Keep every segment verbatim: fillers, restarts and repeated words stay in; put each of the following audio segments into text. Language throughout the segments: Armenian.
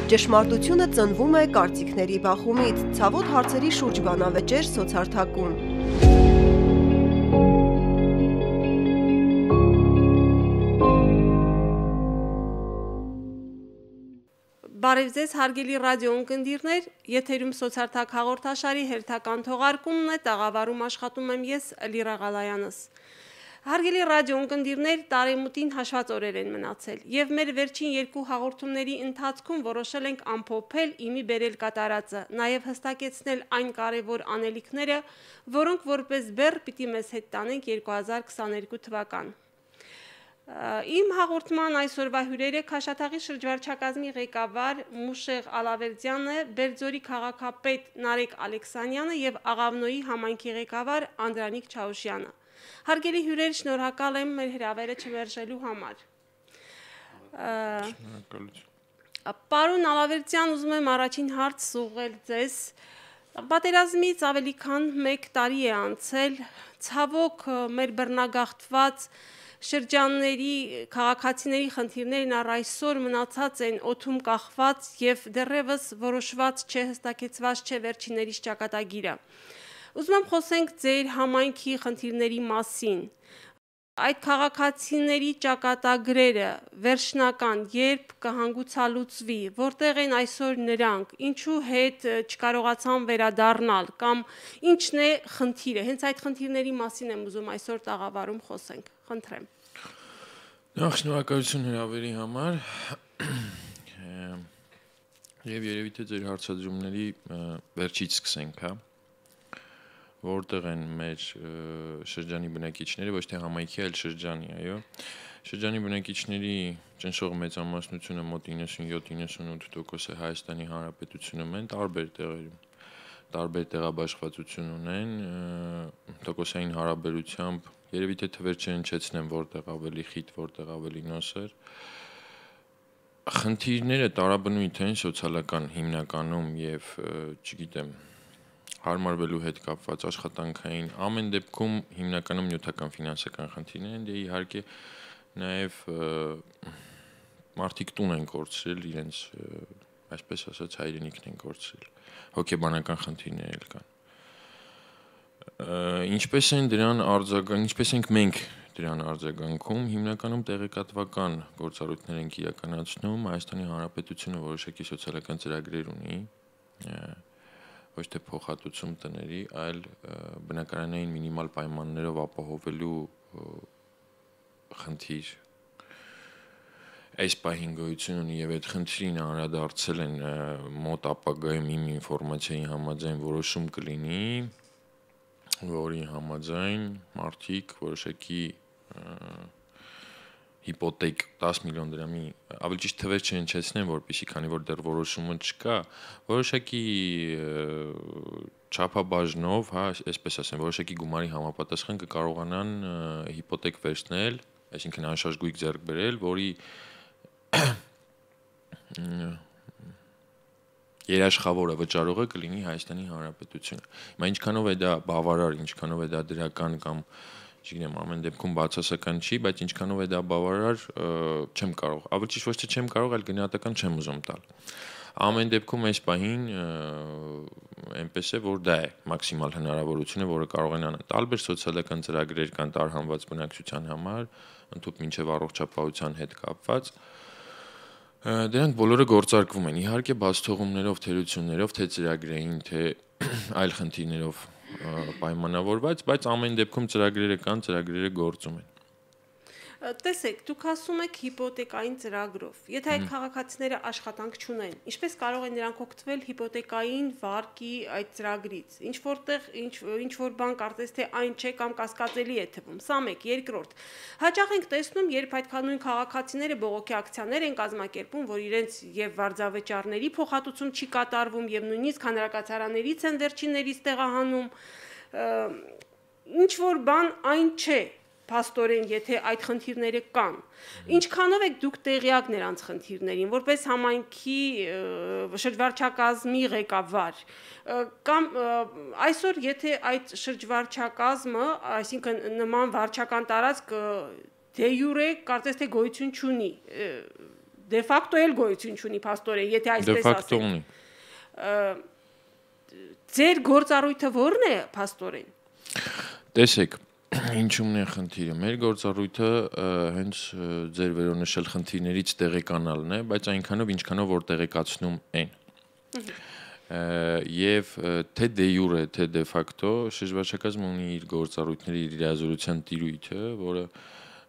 Ճշմարտությունը ծնվում է կարծիքների բախումից, ցավոտ հարցերի շուրջ բանավեճեր սոցհարթակում։ Բարև ձեզ, հարգելի ռադիո ունկնդիրներ, եթերում սոցհարթակ հաղորդաշարի հերթական թողարկումն է, տաղավարում աշխատում եմ ես, Լիրա Ղալայանս։ Հարգելի ռադիո ունկնդիրներ, տարեմուտին հաշված օրեր են մնացել, եւ մեր վերջին երկու հաղորդումների ընթացքում որոշել ենք ամփոփել իմի բերել կատարածը, նաեւ հստակեցնել այն կարևոր անելիքները, որոնք որպես բեռ պիտի մեզ հետ տանենք երկու հազար քսաներկու թվական։ Իմ հաղորդման այսօրվա հյուրերը Քաշաթաղի շրջվարչակազմի ղեկավար Մուշեղ Ալավերդյանը, Բերձորի քաղաքապետ Նարեկ Ալեքսանյանը եւ Աղավնոյի համայնքի ղեկավար Անդրանիկ Չաուշյանը։ Հարգելի հյուրեր, շնորհակալ եմ մեր հրավերը չմերժելու համար։ Պարոն Ալավերդյան, ուզում եմ առաջին հարց ուղղել ձեզ։ Պատերազմից ավելի քան մեկ տարի է անցել, ցավոք մեր բռնագաղթված շրջանների քաղաքացիների խնդիրներն առ այսօր մնացած են օդում կախված եւ դեռևս որոշված չէ, հստակեցված չէ վերջիններիս ճակատագիրը։ Ուզում եմ խոսենք ձեր համայնքի խնդիրների մասին։ Այդ քաղաքացիների ճակատագրերը վերջնական երբ կհանգուցալուծվի, որտեղ են այսօր նրանք, ինչու հետ չկարողացան վերադառնալ կամ ինչն է խնդիրը։ Հենց այդ խնդիրների մասին եմ ուզում այսօր տաղավարում խոսենք։ Խնդրեմ։ Նախ շնորհակալություն հրավերի համար։ Եվ երևի թե ձեր հարցադրումների վերջից սկսենք, հա։ Որտեղ են մեր շրջանի բնակիչները, ոչ թե համայնքի, այլ շրջանի, այո։ Շրջանի բնակիչների ճնշող մեծամասնությունը մոտ իննսունյոթ իննսունութ տոկոս է Հայաստանի Հանրապետությունում են, տարբեր տեղերում, տարբեր տեղաբաշխվածություն ունեն, տոկոսային հարաբերությամբ, երևի թե թվեր չհնչեցնեմ, որտեղ ավելի խիտ, որտեղ ավելի նոսր։ Խնդիրները տարաբնույթ են սոցիալական հիմնականում եւ, չգիտեմ, հարմարվելու հետ կապված աշխատանքային ամեն դեպքում հիմնականում նյութական ֆինանսական խնդիրներ են, դե իհարկե նաև մարդիկ տուն են կորցրել իրենց, այսպես ասած, հայրենիքն են կորցրել, հոգեբանական խնդիրներ էլ կան։ Ինչպես են դրան արձագանքում, ինչպես ենք մենք դրան արձագանքում, հիմնականում տեղեկատվական գործառույթներ ենք իրականացնում, Հայաստանի Հանրապետությունը որոշակի սոցիալական ծրագրեր ունի, ոչ թե փոխհատուցում տների, այլ բնակարանային մինիմալ պայմաններով ապահովելու խնդիր այս պահին գոյություն ունի եւ այդ խնդրին անդրադարձել են մոտ ապագայում իմ ինֆորմացիայի համաձայն որոշում կլինի, որի համաձայն մարդիկ որոշակի հիպոթեք դես միլիոն դրամի, ավելի ճիշտ թվեր չհնչեցնեմ, որպեսզի քանի որ դեռ որոշումը չկա, որոշակի չափաբաժնով, հա, այսպես ասեմ, որոշակի գումարի համապատասխան կկարողանան հիպոթեք վերցնել, այսինքն անշարժ գույք ձեռք բերել, որի երաշխավորը վճարողը կլինի Հայաստանի Հանրապետությունը։ Հիմա ինչքանով է դա բավարար, ինչքանով է դա դրական կամ չգիտեմ, ամեն դեպքում բացասական չի, բայց ինչքանով է դա բավարար, չեմ կարող, ավելի ճիշտ ոչ թե չեմ կարող, այլ գնահատական չեմ ուզում տալ։ Ամեն դեպքում այս պահին այնպես է, որ դա է մաքսիմալ հնարավորությունը, որը կարող են անել։ Տարբեր սոցիալական ծրագրեր կան տարհանված բնակչության համար, ընդհանուր մինչև առողջապահության հետ կապված։ Դրանք բոլորը գործարկվում են, իհարկե բացթողումներով, թերություններով, թե ծրագրային, թե այլ խնդիրներով պայմանավորված, բայց ամեն դեպքում ծրագրերը կան, ծրագրերը գործում են։ Տեսեք, դուք ասում եք հիպոթեկային ծրագրով։ Եթե այդ քաղաքացիները աշխատանք չունեն, ինչպես կարող են նրանք օգտվել հիպոթեկային վարկի այդ ծրագրից։ Ինչ որտեղ ինչ որ բան կարծես թե այն չէ կամ կասկածելի է թվում։ Սա մեկ, երկրորդ։ Հաճախ ենք տեսնում, երբ այդ նույն քաղաքացիները բողոքի ակցիաներ են կազմակերպում, որ իրենց եւ վարձավճարների փոխհատուցում չի կատարվում եւ նույնիսկ հանրակացարաններից են վերջիններից տեղահանում, ինչ որ բան այն չէ։ Փաստորեն, եթե այդ խնդիրները կան, ինչքանով եք դուք տեղյակ նրանց խնդիրներին, որպես համայնքի շրջվարչակազմի ղեկավար, կամ այսօր եթե այդ շրջվարչակազմը, այսինքն նման վարչական տարածք դե յուրե կարծես թե գոյություն չունի, դե ֆակտո էլ գոյություն չունի փաստորեն, եթե այսպես ասենք։ Դե ֆակտո ունի։ Ձեր գործառույթը ո՞րն է փաստորեն։ Տեսեք, ինչումն է խնդիրը։ Մեր գործառույթը հենց ձեր վերոնշել խնդիրներից տեղեկանալն է, բայց այնքանով ինչքանով որ տեղեկացնում են։ Եվ թե դե յուրե, թե դե ֆակտո շրջվարչակազմը ունի իր գործառույթների իր լիազորության տիրույթը, որը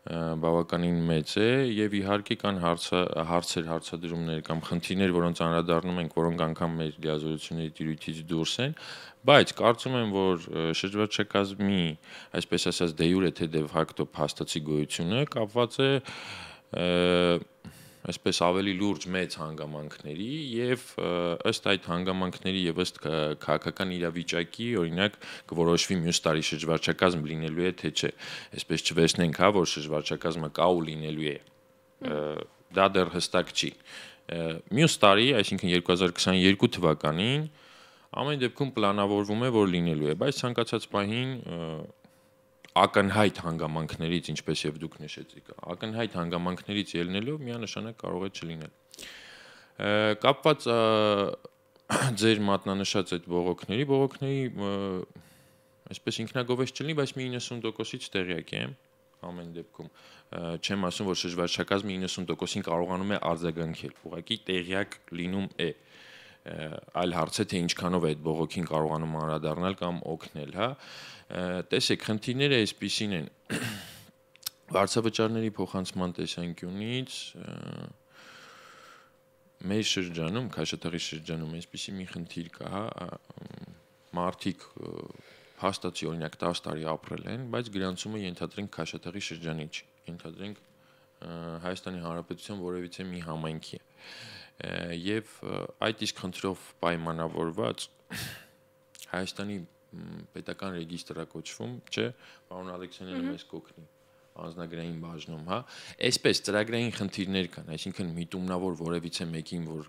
բավականին մեծ է եւ իհարկե կան հարցեր, հարցադրումներ կամ խնդիրներ, որոնց անդրադառնում ենք, որոնք անգամ մեր լիազորությունների տիրույթից դուրս են, բայց կարծում եմ, որ շրջվարչակազմի, այսպես ասած, դե յուրե թե դե ֆակտո փաստացի գոյությունը կապված է այսպես ավելի լուրջ մեծ հանգամանքների եւ ըստ այդ հանգամանքների եւ ըստ քաղաքական իրավիճակի օրինակ կորոշվի մյուս տարի շրջվարչակազմ լինելու է թե չէ, այսպես չվերցնենք, հա, որ շրջվարչակազմը կա ու լինելու է, դա դեռ հստակ չի։ Մյուս տարի, այսինքն երկու հազար քսաներկու թվականին ամեն դեպքում պլանավորվում է, որ լինելու է, բայց ցանկացած պահին ակնհայտ հանգամանքներից, ինչպես եւ դուք նշեցիք, ակնհայտ հանգամանքներից ելնելով միանշանակ կարող է չլինել։ Կապված ձեր մատնանշած այդ բողոքների, բողոքների այսպես ինքնագովեշ չլինի, բայց մի իննսուն տոկոսից տեղյակ եմ ամեն դեպքում։ Չեմ ասում, որ շրջվարչակազմը իննսուն տոկոսին կարողանում է արձագանքել, ուղղակի տեղյակ լինում է։ Այլ հարց է, թե ինչքանով է այդ բողոքին կարողանում անդրադառնալ կամ օգնել, հա։ Տեսեք, խնդիրները այսպիսին են։ Վարձավճարների փոխանցման տեսանկյունից մեր շրջանում, Քաշաթաղի շրջանում այսպիսի մի խնդիր կա, հա, մարդիկ հաստատի օրինակ տասը տարի ապրել են, բայց գրանցումը ենթադրենք Քաշաթաղի շրջանի չի, ենթադրենք Հայաստանի Հանրապետության որևիցե մի համայնքի է։ Եվ այդ իսկ խնդրով պայմանավորված Հայաստանի պետական ռեգիստրը կոչվում, չէ, պարոն Ալեքսանյանը մեզ կօգնի անձնագրային բաժնում, հա, այսպես ծրագրային խնդիրներ կան, այսինքն միտումնավոր որևիցե մեկին, որ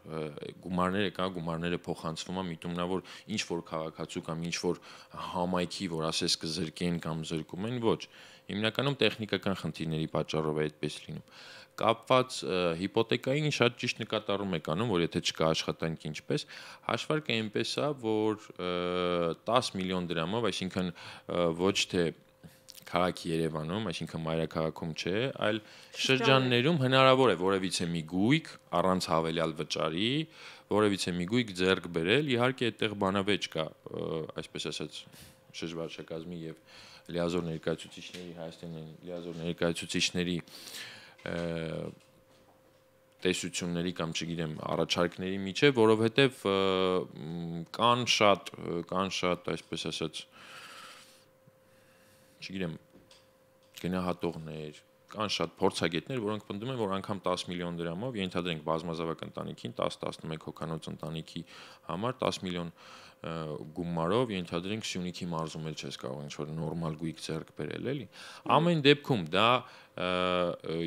գումարները կա, գումարները փոխանցվում է, միտումնավոր ինչ որ քաղաքացու կամ ինչ որ համայնքի, որ ասես կզրկեն կամ զրկում են, ոչ, հիմնականում տեխնիկական խնդիրների պատճառով է այդպես լինում։ Կապված հիպոթեկային շատ ճիշտ նկատառում եք անում, որ եթե չկա աշխատանք ինչպես, հաշվարկը այնպես է, որ տասը միլիոն դրամով, այսինքն ոչ թե քաղաքի Երևանում, այսինքն մայրաքաղաքում չէ, այլ շրջաններում հնարավոր է որևիցե մի գույք առանց հավելյալ վճարի, որևիցե մի գույք ձեռք բերել, իհարկե այդտեղ բանավեճ կա, այսպես ասած, շրջվարչակազմի եւ լիազոր ներկայացուցիչների Հայաստանի լիազոր ներկայացուցիչների տեսությունների կամ չգիտեմ առաջարկների միջև, որովհետև կան շատ կան շատ այսպես ասած չգիտեմ գնահատողներ, կան շատ փորձագետներ, որոնք պնդում են, որ անգամ տասը միլիոն դրամով ենթադրենք բազմազավակ ընտանիքին տասը տասնմեկ հոգանոց ընտանիքի համար տասը միլիոն գումարով ենթադրենք Սյունիքի մարզում էլ չես կարող ինչ-որ նորմալ գույք ձեռք բերել, էլի։ Ամեն դեպքում դա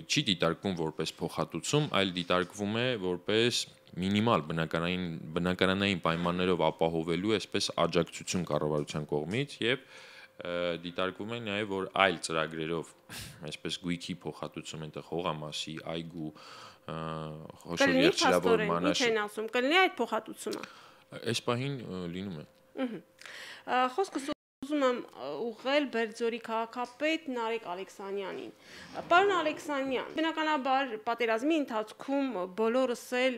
չի դիտարկվում որպես փոխհատուցում, այլ դիտարկվում է որպես մինիմալ բնակարանային բնակարանային պայմաններով ապահովելու այսպես աջակցություն կառավարության կողմից եւ դիտարկվում է նաեւ որ այլ ծրագրերով այսպես գույքի փոխհատուցում այնտեղ հողամասի, այգու, խոշոր երթերավոր մանաշ։ Ինչ են ասում, կլինի այդ փոխհատուցումը։ Այս պահին լինում է։ Խոսքս ուզում եմ ուղղել Բերձորի քաղաքապետ Նարեկ Ալեքսանյանին։ Պարոն Ալեքսանյան, բնականաբար պատերազմի ընթացքում բոլորս էլ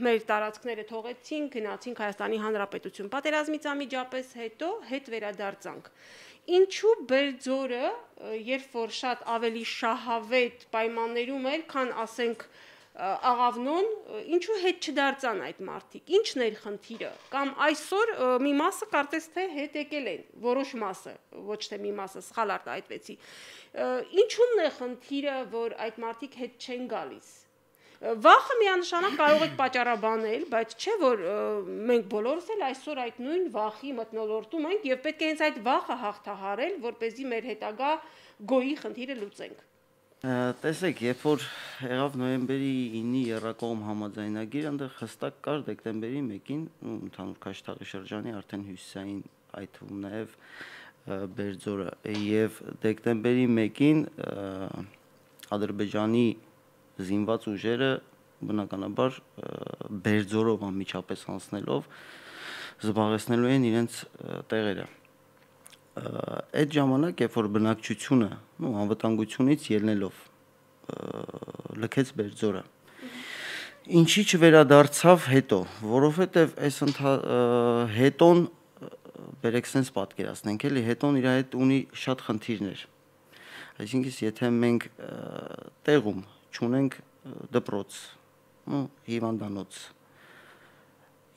մեր տարածքները թողեցինք, գնացինք Հայաստանի Հանրապետություն։ Պատերազմից անմիջապես հետո հետ վերադարձանք։ Ինչու Բերձորը, երբ որ շատ ավելի շահավետ պայմաններում էր, քան ասենք Աղավնոն, ինչու հետ չդարձան այդ մարդիկ, ինչն էր խնդիրը, կամ այսօր մի մասը կարծես թե հետ եկել են, որոշ մասը, ոչ թե մի մասը, սխալ արտահայտվեցի, ինչու՞մն է խնդիրը, որ այդ մարդիկ հետ չեն գալիս, վախը միանշանակ կարող եք պատճառաբանել, բայց չէ որ մենք բոլորս էլ այսօր այդ նույն վախի մթնոլորտում ենք եւ պետք է հենց այդ վախը հաղթահարել, որպեսզի մեր հետագա գոյի խնդիրը լուծենք։ Տեսեք, երբ որ եղավ նոյեմբերի ինի եռակողմ համաձայնագիր, այնտեղ հստակ կար դեկտեմբերի մեկին, ընդհանուր Քաշաթաղի շրջանի արդեն հյուսիսային, այդ թվում նաև Բերձորը, եւ դեկտեմբերի մեկին Ադրբեջանի զինված ուժերը բնականաբար բերձորով անմիջապես անցնելով զբաղեցնելու են իրենց տեղերը։ Այդ ժամանակ, երբ որ բնակչությունը, նո անվտանգությունից ելնելով լքեց Բերձորը, ինչի չվերադարձավ հետո, որովհետև այս հետոն բերեք sense պատկերացնենք, էլի հետոն իր հետ ունի շատ խնդիրներ։ Այսինքն, եթե մենք տեղում չունենք դպրոց, ու հիվանդանոց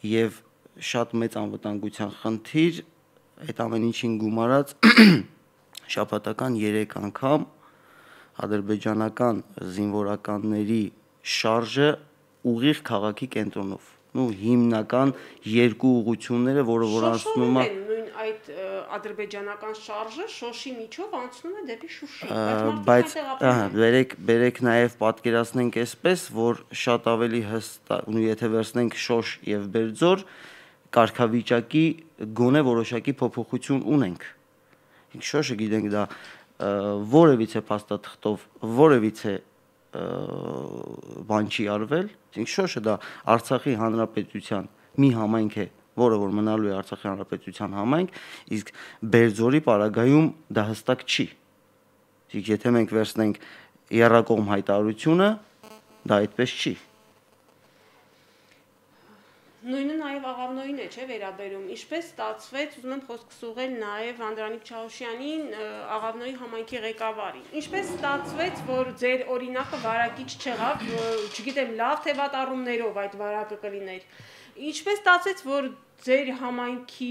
եւ շատ մեծ անվտանգության խնդիր, այդ ամեն ինչին գումարած շաբաթական երեք անգամ ադրբեջանական զինվորականների շարժը ուղիղ քաղաքի կենտրոնով, ու հիմնական երկու ուղությունները, որը որ անցնում է նույն այդ ադրբեջանական շարժը Շոշի միջով անցնում է դեպի Շուշի, բայց բերեք բերեք նաև պատկերացնենք այսպես, որ շատ ավելի հստակ, ու եթե վերցնենք Շոշ եւ Բերձոր, կարգավիճակի գոնե որոշակի փոփոխություն ունենք։ Ինք Շոշը գիտենք դա որևիցե փաստաթղթով, որևիցե բան չի արվել, ինք Շոշը դա Արցախի հանրապետության մի համայնք է, որը որ մնալու է Արցախի հանրապետության համայնք, իսկ Բերձորի պարագայում դա հստակ չի։ Իսկ եթե մենք վերցնենք եռակողմ հայտարարությունը, դա այդպես չի։ Նույնը նաև Աղավնոյին է, չէ, վերաբերում։ Ինչպես ստացվեց, ուզում եմ խոսքս ուղղել նաև Անդրանիկ Չաուշյանին, Աղավնոյի համայնքի ղեկավարին։ Ինչպես ստացվեց, որ ձեր օրինակը վարակիչ չեղավ, չգիտեմ, լավ թե վատ առումներով այդ վարակը կլիներ։ Ինչպես ստացվեց, որ ձեր համայնքի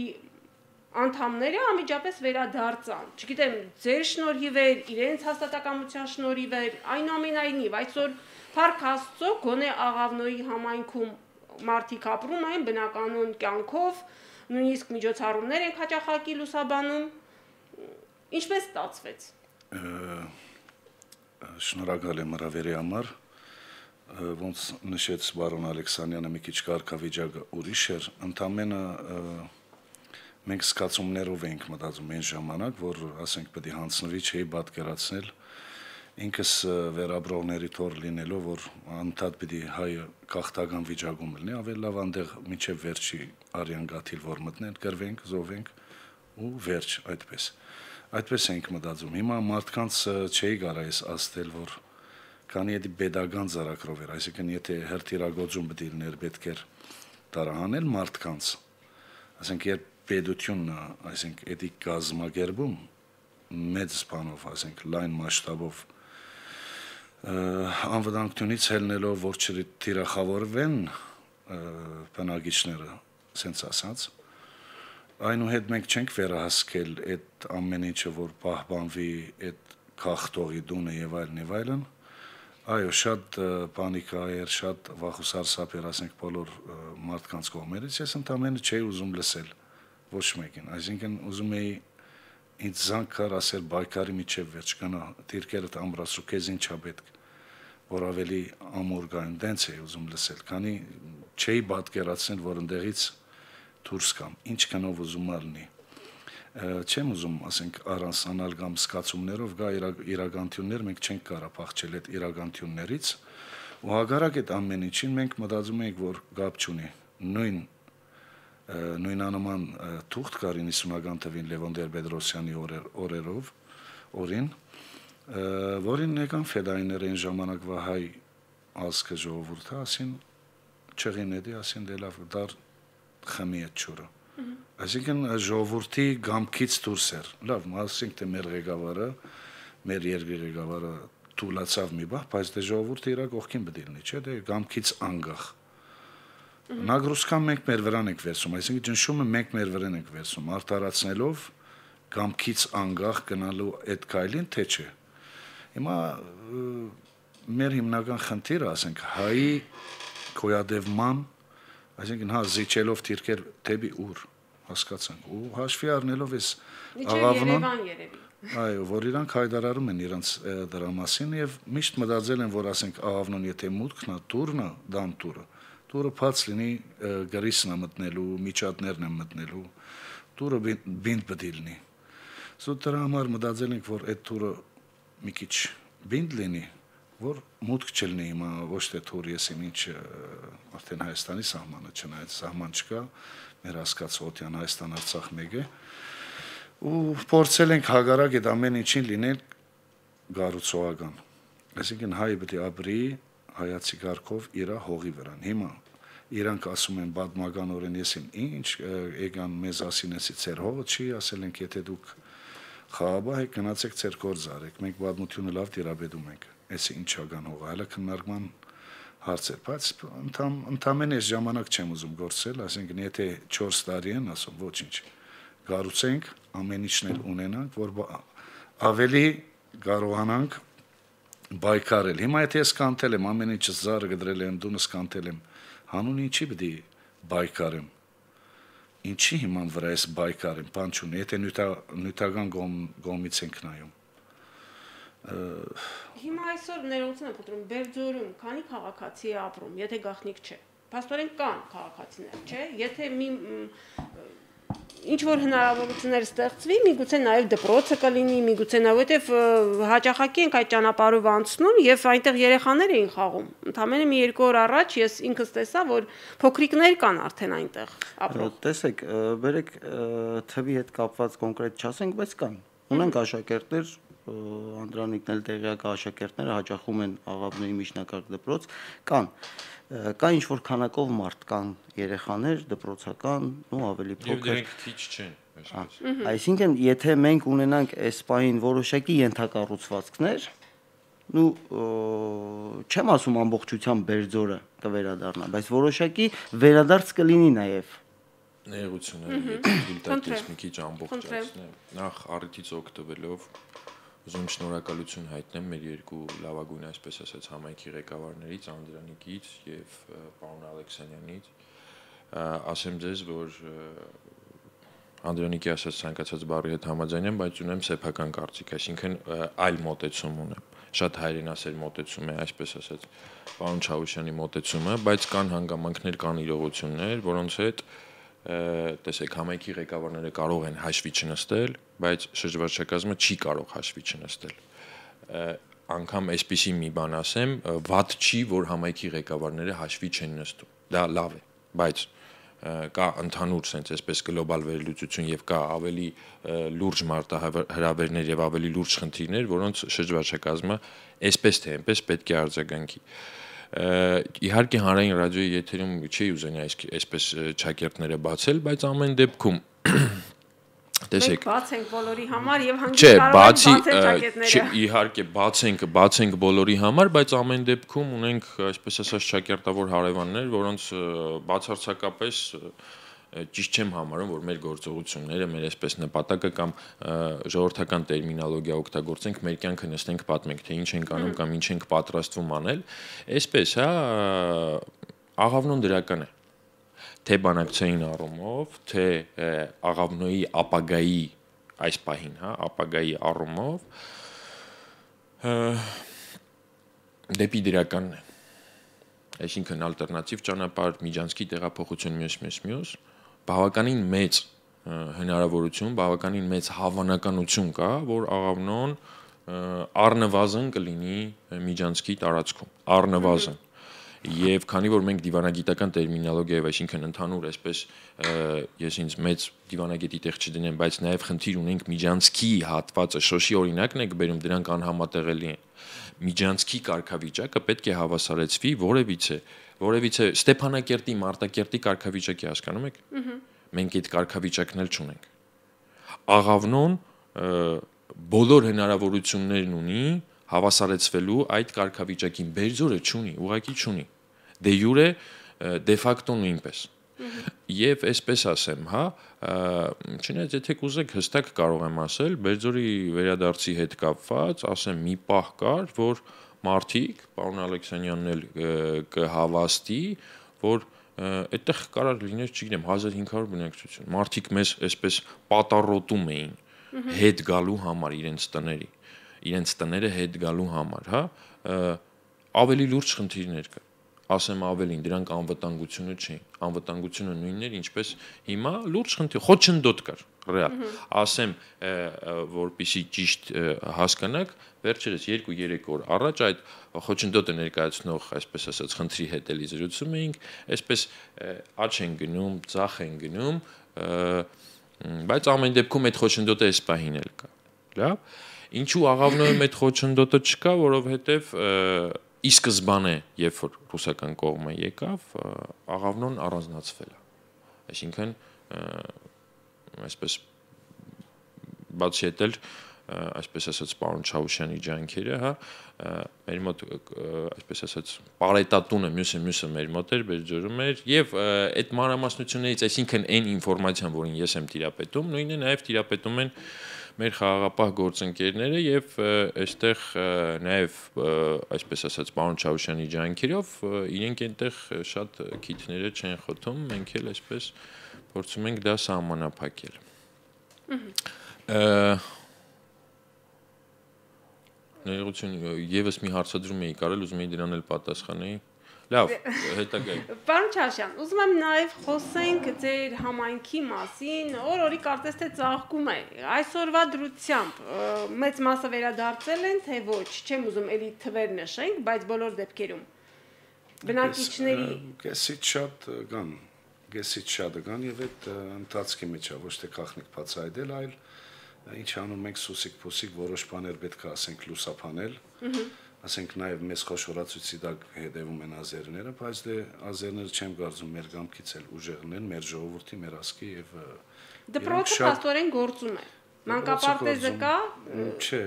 անդամները անմիջապես վերադարձան։ Չգիտեմ, ձեր շնորհիվ էր, իրենց հաստատակամության շնորհիվ էր, այնուամենայնիվ, այսօր Փառք Աստծո, գոնե Աղավնոյի համայնքում մարդիկ ապրում են բնականոն կյանքով, նույնիսկ միջոցառումներ են հաճախակի լուսաբանում։ Ինչպես ստացվեց։ Շնորհակալ եմ հրավերի համար, ոնց նշեց բարոն Ալեքսանյանը, մի քիչ կարգավիճակը ուրիշ էր, ընդամենը մենք զգացումներով էինք մտածում այն ժամանակ, որ ասենք պետք է հանձնվի, չէի պատկերացնել ինքս վերաբրողների թոր լինելով, որ անդադ պիտի հայը կախտական վիճակում լինի, ավելի լավ անդեղ մինչև վերջի արյան գաթիլ որ մտնենք, գրվենք, զովենք ու վերջ այդպես։ Այդպես ենք մտածում։ Հիմա մարդկանց չէի կարա ես ասել, որ քանի էդի pedagogan ծրագրով էր, այսինքն եթե հերթիրագործում պիտի լիներ պետք էր տարահանել մարդկանց, ասենք երբ պետությունն, այսինքն էդի կազմակերպում մեծ սպանով, ասենք լայն մասշտաբով անվտանգությունից ելնելով, որ չթիրախավորվեն բնակիչները, սենց ասած, այնուհետ մենք չենք վերահասկել այդ ամեն ինչը, որ պահպանվի այդ քաղտողի դունը եւ այլն եւ այլն, այո, շատ պանիկա էր, շատ վախուսարսափ էր, ասենք բոլոր մարդկանց կողմերից, ես ընդամենը չէի ուզում լսել ոչ մեկին, այսինքն ուզում էի ինձ զանգար ասել բայկարի միջև վերջ կնա, դիրքերդ ամրացու, քեզ ինչա պետք, որ ավելի ամուր գայում, դենց էի ուզում լսել, քանի չէի պատկերացնել, որ ընդեղից դուրս կամ, ինչ կնով ուզում ալնի, չեմ ուզում, ասենք, առանցանալ կամ սկացումներով գա իրականություններ, մենք չենք կարա փախչել այդ իրականություններից, ու հակառակ այդ ամեն ինչին մենք մտածում ենք, որ գապ չունի, նույն նույնանման թուղթ կար իննսունական թվին Լևոն Տեր-Պետրոսյանի օրերով, օրին, որին եկան ֆեդայիները այն ժամանակվա հայ ազգը ժողովուրդը, ասին չեղին էդի, ասին դե լավ, դար խմի այդ չորը։ Այսինքն ժողովրդի գամքից դուրս էր, լավ, ասենք թե մեր ղեկավարը, մեր երկրի ղեկավարը թուլացավ մի բախ, բայց դե ժողովուրդը իրա կողքին պետք է լինի, չէ՞, դե գամքից անգախ։ Նագրուսկան մենք մեր վրան ենք վերցում, այսինքն ճնշումը մենք մեր վրան ենք վերցում, արտարացնելով գամքից անգախ գնալու այդ քայլին, թե չէ։ Հիմա մեր հիմնական խնդիրը, ասենք, հայի գոյատևման, այսինքն հա զիջելով դիրքեր դեպի ուր, հասկացանք, ու հաշվի առնելով այս Աղավնոն, այո, որ իրանք հայտարարում են իրանց դրա մասին եւ միշտ մտածել են, որ ասենք Աղավնոն եթե մուտքն է, տուրն է, դան տուրը Տուրը փած լինի գրիսն է մտնելու, միջատներն են մտնելու, տուրը բինդ պետք է լինի։ Սա դրա համար մտածել ենք, որ այդ տուրը մի քիչ բինդ լինի, որ մուտք չլինի հիմա ոչ թե Թուրքիեսին ինչ արդեն Հայաստանի սահմանը չնայած սահման չկա, մեր հասկացողության Հայաստան-Արցախ մեկ է, ու փորձել ենք հագարակ այդ ամեն ինչին լինել գառուցողական։ Այսինքն հայը պետք է ապրի հայացի կարգով իր հողի վրան։ Հիմա իրանք ասում են պատմականորեն եսին ինչ եկան մեզ ասինեցի ծեր հողը չի, ասել ենք եթե դուք խաղաբահ եք գնացեք ծեր գործ արեք, մենք պատմությունը լավ տիրապետում ենք։ Այս ինչական հողը, հələ քննարկման հարց է, բայց ընդհանրապես ընդամենը այս ժամանակ չեմ ուզում գործել, ասենք եթե չորս տարի են, ասում ոչինչ։ Գառուցենք, ամեն ինչն էլ ունենանք, որ ավելի կարողանանք բայկարել։ Հիմա եթե ես կանտել եմ, ամեն ինչը զարը գդրել եմ, դունս կանտել եմ, հանուն ինչի պետք է բայկարեմ։ Ինչի հիման վրա էս բայկարեմ, բան չունի, եթե նյութական կողմից ենք նայում։ Հիմա այսօր ներողություն եմ խնդրում, Բերձորում քանի քաղաքացի է ապրում, եթե գաղտնիք չէ։ Փաստորեն կան քաղաքացիներ, չէ՞։ Եթե մի ինչ որ հնարավորություններ ստեղծվի, միգուցե նաև դպրոցը կլինի, միգուցե նաև որովհետև հաճախակի ենք այդ ճանապարհով անցնում եւ այնտեղ երեխաներ էին խաղում։ Ընդամենը մի երկու օր առաջ ես ինքս տեսա, որ փոքրիկներ կան արդեն այնտեղ ապրող։ Տեսեք, բերեք թվի հետ կապված կոնկրետ չասենք, բայց կան։ Ունենք աշակերտներ, Անդրանիկն էլ տեղյակ աշակերտները հաճախում են Աղավնոյի միջնակարգ դպրոց, կան կա ինչ որ քանակով մարդ կան երեխաներ դպրոցական ու ավելի փոքր եւ դրանք քիչ չեն այսինքն եթե մենք ունենանք այս պահին որոշակի ենթակառուցվածքներ ու չեմ ասում ամբողջությամբ Բերձորը կվերադառնա բայց որոշակի վերադարձ կլինի նաեւ ներողություն դիտակից մի քիչ ամբողջացնեմ նախ առիթից օգտվելով ուզում շնորհակալություն հայտնեմ մեր երկու լավագույն այսպես ասած համայնքի ղեկավարներից Անդրանիկից եւ պարոն Ալեքսանյանից ասեմ ձեզ որ Անդրանիկի ասած ցանկացած բառի հետ համաձայն եմ բայց ունեմ սեփական կարծիք այսինքն այլ մոտեցում ունեմ շատ հայրենասեր մոտեցում է այսպես ասած պարոն Չավուշյանի մոտեցումը բայց կան հանգամանքներ կան իրողություններ որոնց հետ տեսեք համայնքի ղեկավարները կարող են հաշվի չնստել, բայց շրջվարչակազմը չի կարող հաշվի չնստել։ Անգամ այսպիսի մի բան ասեմ, վատ չի, որ համայնքի ղեկավարները հաշվի չեն նստում։ Դա լավ է, բայց կա ընդհանուր sense այսպես գլոբալ վերլուծություն եւ կա ավելի լուրջ մարտահրավերներ եւ ավելի լուրջ խնդիրներ, որոնց շրջվարչակազմը այսպես թե այնպես պետք է արձագանքի։ Իհարկե հանրային ռադիոյի եթերում չի ուզենա այսպես չակերտները բացել, բայց ամեն դեպքում տեսեք բաց ենք բոլորի համար եւ հանգիստ կարող ենք բացել ճակետները։ Իհարկե բաց ենք, բաց ենք բոլորի համար, բայց ամեն դեպքում ունենք այսպես ասած ճակերտավոր հարևաններ, որոնց բացարձակապես ճիշտ չեմ համարում, որ մեր գործողությունները, մեր այսպես նպատակը կամ ժողովրդական տերմինոլոգիա օգտագործենք, մեր կյանքը նստենք պատմենք, թե ինչ ենք անում կամ ինչ ենք պատրաստվում անել, այսպես, հա, Աղավնոն դրական է, թե բանակցային առումով, թե Աղավնոյի ապագայի այս պահին, հա, ապագայի առումով դեպի դրականն է, այսինքն ալտերնատիվ ճանապարհ, միջանցքի տեղափոխություն մյուս մյուս մյուս բավականին մեծ հնարավորություն, բավականին մեծ հավանականություն կա, որ Աղավնոն առնվազն կլինի միջանցքի տարածքում, առնվազն։ Եվ քանի որ մենք դիվանագիտական տերմինոլոգիայով, այսինքն ընդհանուր այսպես ես ինձ մեծ դիվանագետի տեղ չդնեմ, բայց նաև խնդիր ունենք միջանցքի հատվածը, շոշի օրինակն եք բերում, դրանք անհամատեղելի են։ Միջանցքի կարգավիճակը պետք է հավասարեցվի որևիցե որևիցե Ստեփանակերտի, Մարտակերտի կարգավիճակի հասկանում եք։ Մենք այդ կարգավիճակն էլ չունենք։ Աղավնոն բոլոր հնարավորություններն ունի հավասարեցվելու այդ կարգավիճակին, Բերձորը չունի, ուղղակի չունի։ Դե յուրե դե ֆակտո նույնպես։ Եվ այսպես ասեմ, հա, չնայած եթե կուզեք հստակ կարող եմ ասել, Բերձորի վերադարձի հետ կապված, ասեմ մի պահ կար, որ մարդիկ, պարոն Ալեքսանյանն էլ կհավաստի, որ այդտեղ կարող լիներ, չգիտեմ, հազար հինգ հարյուր բնակչություն։ Մարդիկ մեզ այսպես պատառոտում էին հետ գալու համար իրենց տների, իրենց տները հետ գալու համար, հա, ավելի լուրջ խնդիրներ կա։ ասեմ ավելին, դրանք անվտանգությունը չի։ Անվտանգությունը նույնն էր, ինչպես հիմա լուրջ խնդիր, խոչընդոտ կար, ռեալ։ Ասեմ, որպեսզի ճիշտ հասկանաք, վերջերս երկու երեք օր առաջ այդ խոչընդոտը ներկայացնող, այսպես ասած, խնդրի հետ էլի զրուցում էինք, այսպես աճ են գնում, ծախ են գնում, բայց ամեն դեպքում այդ խոչընդոտը այս պահին էլ կա։ Լավ։ Ինչու աղավնոյում այդ խոչընդոտը չկա, որովհետև ի սկզբանե, երբ որ ռուսական կողմը եկավ, աղավնոն առանձնացվել է։ Այսինքն, այսպես բացի այդ էլ, այսպես ասած, պարոն Չավուշյանի ջանքերը, հա, մեր մոտ, այսպես ասած, պարետատունը, մյուսը մյուսը մեր մոտ էր, Բերձորում էր, եւ այդ մանրամասնություններից, այսինքն այն ինֆորմացիան, որին ես եմ տիրապետում, նույնը նաեւ տիրապետում են մեր խաղաղապահ գործընկերները եւ այստեղ նաեւ այսպես ասած պարոն Չավուշյանի ջանքերով իրենք այնտեղ շատ քիթները չեն խոթում, մենք էլ այսպես փորձում ենք դա սահմանափակել։ Ներողություն, եւս մի հարցադրում էի կարել, ուզում էի դրան էլ պատասխանեի։ Լավ, հետագայ։ Պարոն Չավուշյան, ուզում եմ նաև խոսենք ձեր համայնքի մասին, օր-օրի կարծես թե ծաղկում է։ Այսօրվա դրությամբ մեծ մասը վերադարձել են, թե ոչ, չեմ ուզում էլի թվեր նշենք, բայց բոլոր դեպքերում բնակիչների Գեսից շատ կան, գեսից շատ կան եւ այդ ընթացքի մեջ է ոչ թե քախնիկ բացայդել, այլ ինչ անում ենք սուսիկ-փուսիկ որոշ բաներ պետք է ասենք լուսափանել։ Ասենք նաև մեզ խոշորացուցի տակ հետևում են ազերները, բայց դե ազերները չեմ կարծում մեր գամքից էլ ուժեղն են, մեր ժողովրդի, մեր ասկի եւ դպրոցը փաստորեն գործում է։ Մանկապարտեզը կա։ Չէ,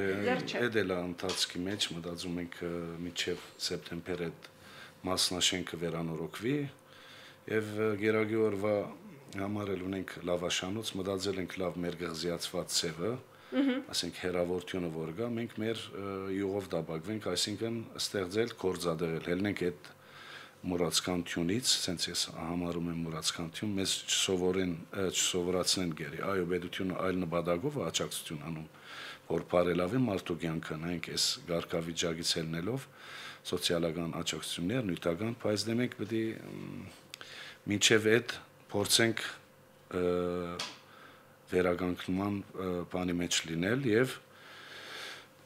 այդ էլ է ընթացքի մեջ, մտածում ենք մինչև սեպտեմբեր այդ մասնաշենքը վերանորոգվի եւ գերագի օրվա համար էլ ունենք լավաշանոց, մտածել ենք լավ մեր գղզիացված ցևը, ասենք հերավորությունը որ գա, մենք մեր յուղով դաբակվենք, այսինքն ստեղծել, գործադեղել, ելնենք այդ մուրացկան թյունից, ասենց ես համարում եմ մուրացկան թյուն, մեզ չսովորեն, չսովորացնեն գերի, այո, պետությունը այլ նպատակով աջակցություն անում, որ բարելավի մարդու կյանքը, նայենք այս գարկավիճակից ելնելով սոցիալական աջակցություններ, նյութական, բայց դե մենք պետք է մինչև այդ փորձենք վերագանքման բանի մեջ լինել եւ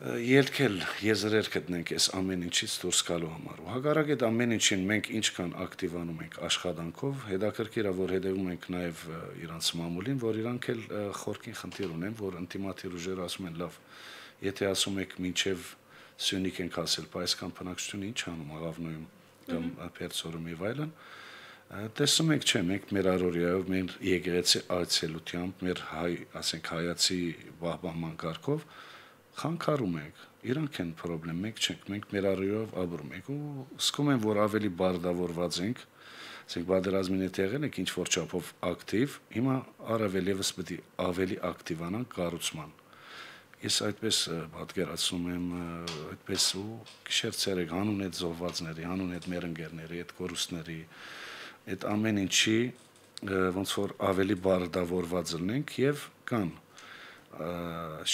ելքել եզրեր գտնենք այս ամեն ինչից դուրս գալու համար։ Ու հակառակ այդ ամեն ինչին մենք ինչքան ակտիվանում ենք աշխատանքով, հետաքրքիր է որ հետևում ենք նաեւ իրանց մամուլին, որ իրանք էլ խորքին խնդիր ունեն, որ ինտիմատիվ ուժերը ասում են լավ, եթե ասում եք մինչեւ Սյունիք ենք ասել, բայց կան բնակչությունը ինչ անում աղավնոյում կամ Պերձորում եւ այլն։ Տեսնում եք, չէ, մենք մեր առօրյայով, մեր եկեղեցի այցելությամբ, մեր հայ, ասենք հայացի բահբանման կարգով խանգարում ենք։ Իրանք են խնդրեմ, մենք չենք, մենք մեր առօրյայով ապրում ենք ու զգում եմ, որ ավելի բարդավորված ենք, ասենք պատերազմին հետ եղել ենք ինչ որ չափով ակտիվ, հիմա առավել եւս պետք է ավելի ակտիվանանք կառուցման։ Ես այդպես պատկերացնում եմ, այդպես ու գիշեր-ցերեկ հանուն այդ զոհվածների, հանուն այդ մեր ընկերների, այդ կորուստների այդ ամեն ինչի ոնց որ ավելի բարդավորված լինենք եւ կան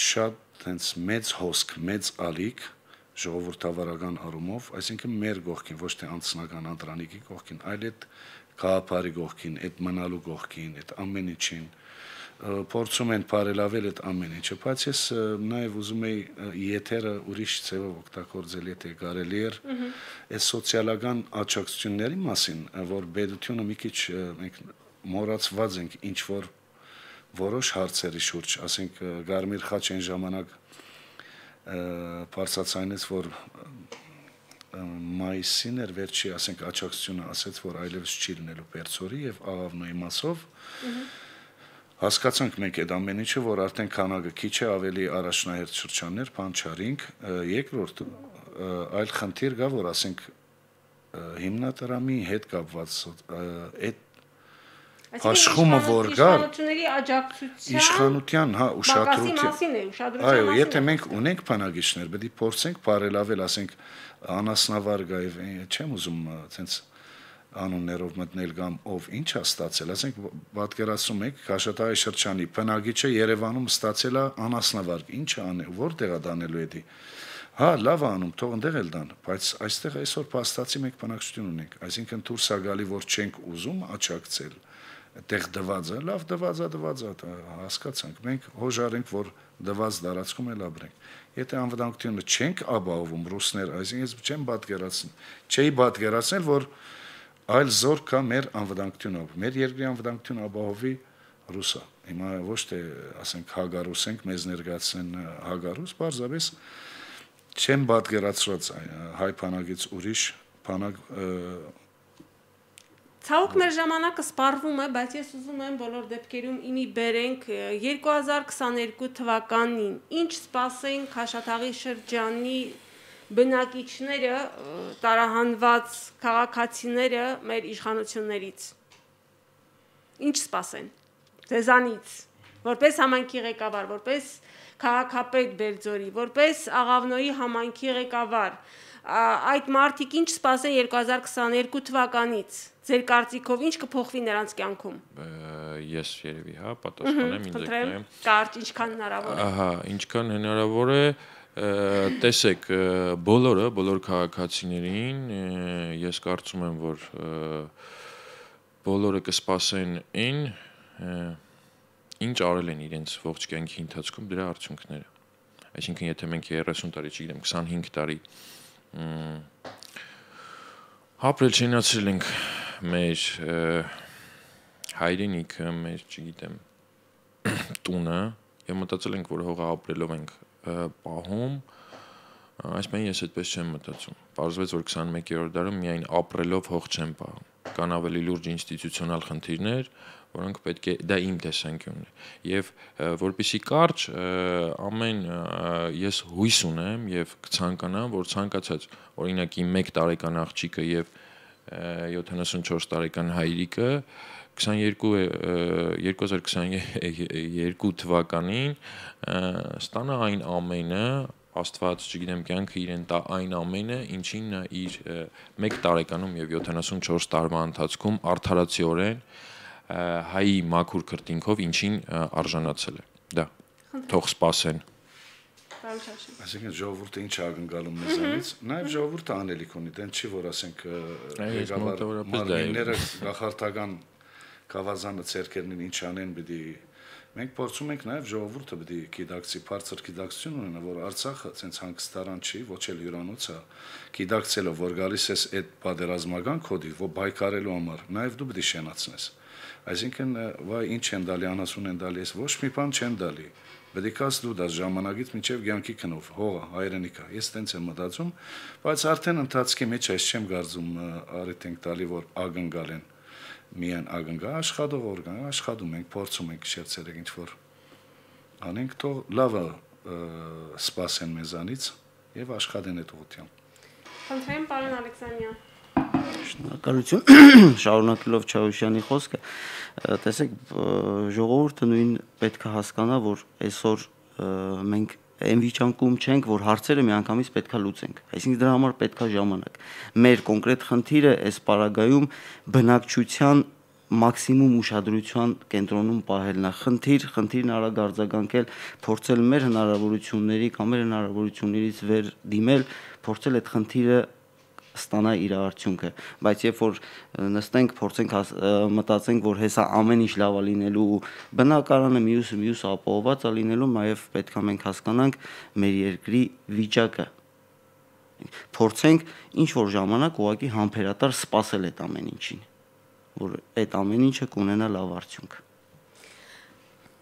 շատ հենց մեծ հոսք, մեծ ալիք ժողովրդավարական առումով, այսինքն մեր գողքին, ոչ թե անձնական անդրանիկի գողքին, այլ այդ գաղափարի գողքին, այդ մնալու գողքին, այդ ամեն ինչին փորձում են բարելավել այդ ամեն ինչը, բայց ես նաև ուզում եի եթերը ուրիշ ձևով օգտագործել, եթե կարելի էր, այս սոցիալական աջակցությունների մասին, որ պետությունը մի քիչ մենք մոռացված ենք ինչ որ որոշ հարցերի շուրջ, ասենք Գարմիր խաչ այն ժամանակ բարձրացանից, որ մայիսին էր վերջի, ասենք աջակցությունը ասեց, որ այլևս չի լինելու Պերձորի եւ Աղավնոյի մասով Հասկացանք մենք այդ ամեն ինչը, որ արդեն քանակը քիչ է, ավելի առաջնահերթ շրջաններ, բան չարինք, երկրորդ այլ խնդիր կա, որ ասենք հիմնադրամի հետ կապված այդ աշխումը որ կա իշխանությունների աջակցության իշխանության, հա, ուշադրության այո, եթե մենք ունենք բնակիչներ, պետք է փորձենք բարելավել, ասենք անասնավար գա, չեմ ուզում ցենց անուններով մտնել կամ ով ինչ է ստացել, ասենք պատկերացնում եք Քաշաթաղի շրջանի բնակիչը Երևանում ստացել է անասնավարկ, ինչ է անել, որտեղ է դանելու էդի։ Հա, լավ անում, թող ընդեղ էլ դան, բայց այստեղ այսօր փաստացի մենք բնակչություն ունենք, այսինքն դուրս է գալի, որ չենք ուզում աճակցել, այդտեղ դված է, լավ դված է, դված է, հասկացանք, մենք հոժարենք, որ դված դարածքում էլ ապրենք։ Եթե անվտանգությունը չենք ապահովում ռուսներ, այսինքն ես չեմ պատկերացնել, չէի պատկերացնել, որ այլ զոր կա մեր անվտանգությունը, մեր երկրի անվտանգությունը ապահովի ռուսա։ Հիմա ոչ թե ասենք հագարուս ենք, մեզ ներկայացնեն հագարուս, բարձրապես չեմ պատկերացրած հայ բանակից ուրիշ բանակ Ցավոք մեր ժամանակը սպառվում է, բայց ես ուզում եմ բոլոր դեպքերում իմի բերենք երկու հազար քսաներկու թվականին ինչ սպասեին Քաշաթաղի շրջանի բնակիչները, տարահանված քաղաքացիները մեր իշխանություններից։ Ինչ սպասեն ձեզանից, որպես համայնքի ղեկավար, որպես քաղաքապետ Բերձորի, որպես Աղավնոյի համայնքի ղեկավար, այդ մարդիկ ինչ սպասեն երկու հազար քսաներկու թվականից, ձեր կարծիքով ինչ կփոխվի նրանց կյանքում։ Ես երևի, հա, պատասխանեմ ինձ եկնեմ։ Կարճ, ինչքան հնարավոր է։ Ահա, ինչքան հնարավոր է, տեսեք, բոլորը, բոլոր քաղաքացիներին, ես կարծում եմ, որ բոլորը կսպասեն այն, ինչ արել են իրենց ողջ կյանքի ընթացքում դրա արդյունքները։ Այսինքն, եթե մենք երեսուն տարի, չգիտեմ, քսանհինգ տարի ապրել շենացրել ենք մեր հայրենիքը, մեր, չգիտեմ, տունը եւ մտածել ենք, որ հողը ապրելով ենք պահում, այսպես ես այդպես չեմ մտածում։ Պարզվեց, որ քսանմեկերորդ դարում միայն ապրելով հող չեն պահում։ Կան ավելի լուրջ ինստիտուցիոնալ խնդիրներ, որոնք պետք է դա իմ տեսանկյունն է եւ որպեսի կարճ ամեն ես հույս ունեմ եւ կցանկանամ որ ցանկացած օրինակ իմ մեկ տարեկան աղջիկը եւ յոթանասունչորս տարեկան հայրիկը երկու հազար քսաներկու թվականին ստանա այն ամենը Աստված, չգիտեմ, կյանքը իրեն տա այն ամենը, ինչին նա իր մեկ տարեկանում եւ յոթանասունչորս տարվա ընթացքում արդարացիորեն հայի մաքուր քրտինքով ինչին արժանացել է։ Դա թող սպասեն։ Այսինքն ժողովուրդը ինչ ակնկալում մեզանից, նաեւ ժողովուրդը անելիք ունի, դեն չի որ ասենք ղեկավարները գախարտական գավազանը ցերկերնին ինչ անեն պիտի մենք փորձում ենք նաեւ ժողովուրդը պիտի գիտակցի, բարձր գիտակցություն ունենա, որ Արցախը ցենց հանգստարան չի, ոչ էլ հյուրանոց է, գիտակցելով որ գալիս ես այդ պատերազմական կոդի, որ բայկարելու համար, նաեւ դու պիտի շենացնես։ Այսինքն, վայ ինչ են դալի, անասուն են դալի, ես ոչ մի բան չեն դալի։ Պետք է կաս դու դա ժամանակից մինչև ցանկի քնով, հողը, հայրենիքա։ Ես տենց եմ մտածում, բայց արդեն ընթացքի մեջ այս չեմ կարծում արիթ ենք տալի, որ ակնկալ են միայն ակնկա աշխատող օրգան, աշխատում ենք, փորձում ենք շերտերեք ինչ որ անենք, թող լավը սպասեն մեզանից եւ աշխատեն այդ ուղղությամբ։ Խնդրեմ, պարոն Ալեքսանյան։ Շնորհակալություն, շարունակելով Չավուշյանի խոսքը, տեսեք, ժողովուրդը նույն պետք է հասկանա, որ այսօր մենք այն վիճակում չենք, որ հարցերը միանգամից պետքա լուծենք։ Այսինքն դրա համար պետքա ժամանակ։ Մեր կոնկրետ խնդիրը այս պարագայում բնակչության մաքսիմում ուշադրության կենտրոնում պահելն է։ Խնդիր, խնդիրն արագ արձագանքել, փորձել մեր հնարավորությունների կամ մեր հնարավորություններից վեր դիմել, փորձել այդ խնդիրը ստանա իր արդյունքը, բայց երբ որ նստենք, փորձենք մտածենք, որ հեսա ամեն ինչ լավ է լինելու, բնակարանը մյուսը մյուսը ապահովված է լինելու, նաև պետք է մենք հասկանանք մեր երկրի վիճակը։ Փորձենք ինչ որ ժամանակ ուղղակի համբերատար սպասել այդ ամեն ինչին, որ այդ ամեն ինչը կունենա լավ արդյունք։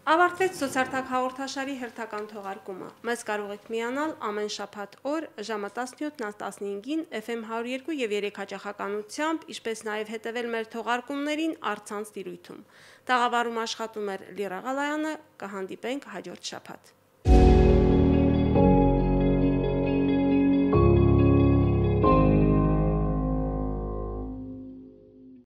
Ավարտվեց Սոցիալտակ հաղորդաշարի հերթական թողարկումը։ Մեզ կարող եք միանալ ամեն շաբաթ օր ժամը տասնյոթ տասնհինգին Էֆ Էմ հարյուր երկու եւ երեք հաճախականությամբ, ինչպես նաեւ հետեւել մեր թողարկումներին առցանց տիրույթում։ Տաղավարում աշխատում էր Լիրա Ղալայանը, կհանդիպենք հաջորդ շաբաթ։